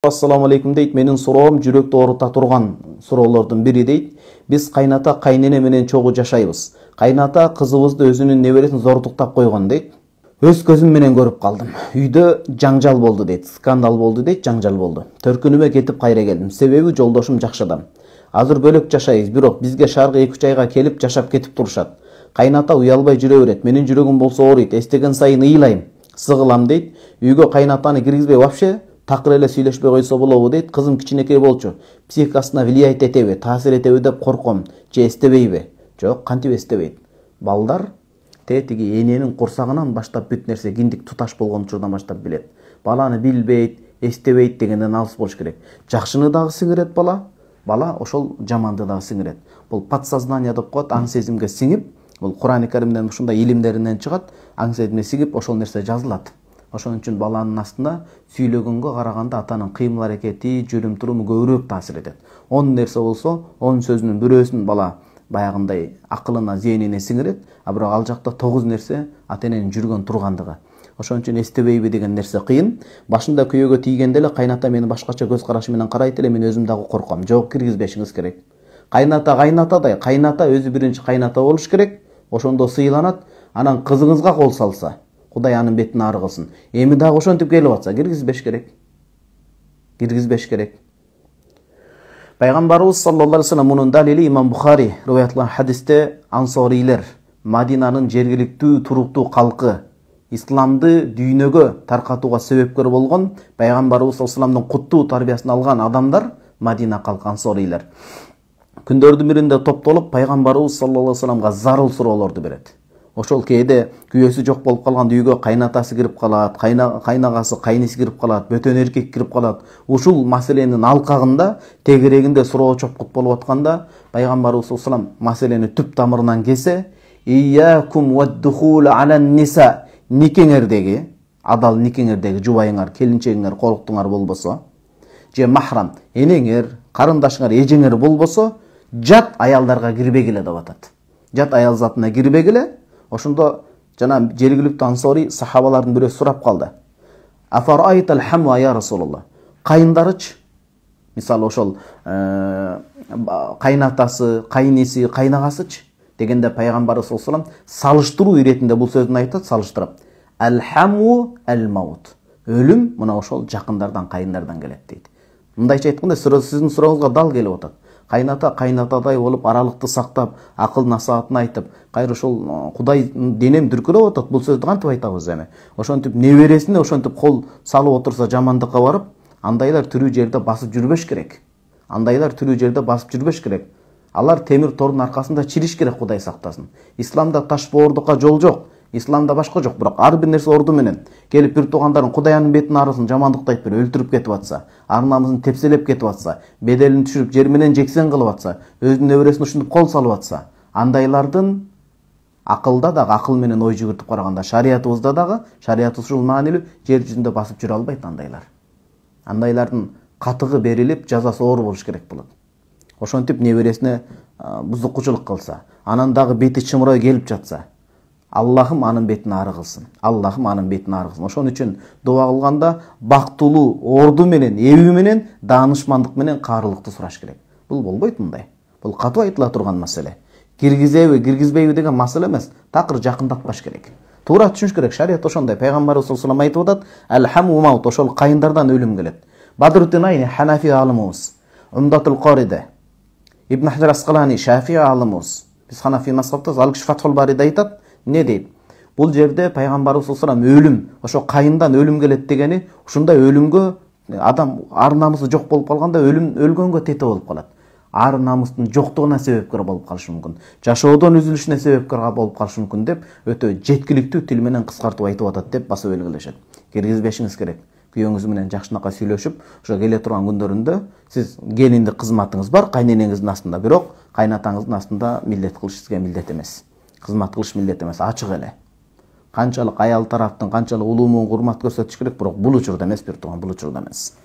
Assalamu alaikum дейт. Менин суроом жүрөктү оорута турган суроолордун бири дейт. Биз кайната кайнене менен чогуу жашайбыз. Кайната кызыбызды өзүнүн небересин зордуктап койгон дейт. Өз көзүм менен көрүп калдым. Үйдө жаңжал болду дейт. Скандал болду дейт, жаңжал болду. Төркүнүмө кетип кайра келдим. Себеби жолдошум жакшы адам. Азыр бөлөк жашайбыз, бирок бизге шаарга 2-3 айга келип жашап кетип турушат. Кайната уялбай жүрө берет. Менин жүрөгүм болсо ооруйт. Эстеген сайын ыйлайм, сыгылам дейт. Үйгө кайнатаны киргизбей вообще такыр эле сүйлөшпөй койсо болобу дейт. Кызым кичинекей болчу. Психикасына влиять этеби, таасир этеби деп корком. Же эстебейби? Жок, кантип эстебейт. Балдар тетиги эненин курсагынан баштап бүт нерсе киндик туташ болгон учурдан баштап билет. Баланы билбейт, эстебейт дегенден алыс болуш керек. Жакшыны дагы сиңирет бала ошол жаманды дагы сиңирет. Бул подсознание деп коет, аң сезимге сиңип, бул Кур'ан-ы Каримден ушундай илимдеринен чыгат, аң сезимге сиңип ошол нерсе жазылат. Ошон үчүн баланын астына сүйлөгөнгө караганда атанын кыймыл аракети, жүрүм туруму көбүрөөк таасир этет. 10 нерсе болсо, 10 сөзүнүн бирөөсүн бала баягындай акылына, зээнине сиңирет, а бирок ал жакта 9 нерсе ата эненин жүргөн тургандыгы. Ошон үчүн эстебейби деген нерсе кыйын. Башында күйөөгө тийгенде эле кайната мени башкача көз карашы менен карайт эле, мен өзүм дагы корком. Жок, киргизбешиңиз керек. Кайнатадай, кайната өзү биринчи кайната болуш керек. Ошондо сыйланат, анан кызыңызга кол салса, Кудай анын бетин ары кылсын. Эми дагы ошентип келип атса, киргизбеш керек. Пайгамбарыбыз саллаллаху алейхи вассалам мунун далили Имам Бухари риваятланган хадисте ансорийлер, Мадинанын жергиликтүү туруктуу калкы, исламды дүйнөгө таркатууга себепкер болгон Пайгамбарыбыз саллаллаху алейхи вассаламдын куттуу тарбиясын алган адамдар Мадина калкы ансорийлер. Күндөрдүн биринде топтолуп Пайгамбарыбыз саллаллаху алейхи вассаламга зарыл суроолорду берет. Ошол кээде күйөөсү жок болуп калган үйгө кайнатасы кирип калат, кайнагасы, кайниси кирип калат, бөтөн эркек кирип калат. Ушул маселенин алкагында, тегерегинде суроо чопкут болуп атканда, Пайгамбарыбыз саллаллаху алейхи вассалам маселени түп тамырынан кесе, "Iyyakum wad-dukhul 'alan nisa" никеңердеги, адал никеңердеги жубайыңар, келинчегиңер, колуктуңар болбосо, же махрам, энеңер, карындашыңар, эжеңер болбосо, жат аялдарга кирбегиле деп атат. Жат аял затына кирбегиле. Ошондо жана жергиликтүү ансори сахабалардын бирөө сурап калды. Афарайтал хамва я Расулуллах. Кайындарычы? Мисалы ошол кайнатасы, кайниси, кайнагасычы? Дегенде Пайгамбарыбыз саллаллаху алейхи вассалам салыштыруу иретинде бул сөзүн айтат, салыштырып. Ал-хаму ал-маут. Өлүм мына ошол жакындардан, кайындардан келет дейт. Мындайча айтканда, сиздин сурооңузга дал келип атат. Кайната кайнатадай болуп, аралыкты сактап, акыл насаатын айтып, кайра ошол Кудай денем дүркүрөп атат. Бул сөздү кантип айтабыз эми? Ошентип небересине ошентип кол салып отурса жамандыкка барып, андайлар тирүү жерде басып жүрбөш керек. Алар темир тордун аркасында чириш керек, Кудай сактасын. Исламда таш боордукка жол жок. Исламда башка жок, бирок ар бир нерсе орду менен. Келип бир туугандарын Кудай анын бетин арысын, жамандыкты айтып өлтүрүп кетип атса, арнамызын тепселеп кетип атса, беделин түшүрүп жер менен жексен кылып атса, өзүнүн небересине ушинтип кол салып атса, андайлардын акылда дагы, акыл менен ой жүгүртүп караганда, шариятыбызда дагы, шариятыбыз ушул маанилүү, жер жүзүндө басып жүрө албайт андайлар. Андайлардын катыгы берилип, жазасы оор болуш керек болот. Ошентип небересине бузукчулук кылса, анан дагы бети чымырай келип жатса, Аллахым анын бетин ары кылсын. Ошон үчүн дуа кылганда бактылуу орду менен, эби менен, даанышмандык менен каарылыкты сураш керек. Бул болбойт мындай. Бул катуу айтыла турган маселе. Киргизеби, киргизбейби деген маселе эмес, такыр жакындатпаш керек. Туура түшүнүш керек. Шарият ошондой. Пайгамбарыбыз саллаллаху алейхи вассалам айтып атат, "Ал-хаму маут", ошол кайындардан өлүм келет. Бадруттин Айни Ханафи алымыбыз, Умдатул Qaриде, Ибн Хаджар Асқалани Шафии алымыбыз. Биз Ханафи мазхабтабыз, ал киши Фатхул Бариде айтат, не дейт? Бул жерде Пайгамбарыбыз саллаллаху алейхи вассалам өлүм, ошо кайындан өлүм келет дегени, ушундай өлүмгө адам ар намысы жок болуп калганда өлгөнгө тете болуп калат. Ар намыстын жоктугуна себепкер болуп калышы мүмкүн. Жашоодон үзүлүшүнө себепкер болуп калышы мүмкүн деп өтө жеткиликтүү тил менен кыскартып айтып атат деп басып белгилешет. Киргизбешиңиз керек. Күйөөңүз менен жакшынакай сүйлөшүп, ошо келе турган күндөрүндө сиз келиндик кызматыңыз бар, кайненеңиздин астында, бирок кайнатаңыздын астында милдет кылыш сизге милдет эмес. Кызмат кылыш милдет эмес, ачык эле. Канчалык аял тараптын канчалык улуу муун урмат көрсөтүш керек, бирок бул учурда эмес, бир тууган, бул учурда эмес.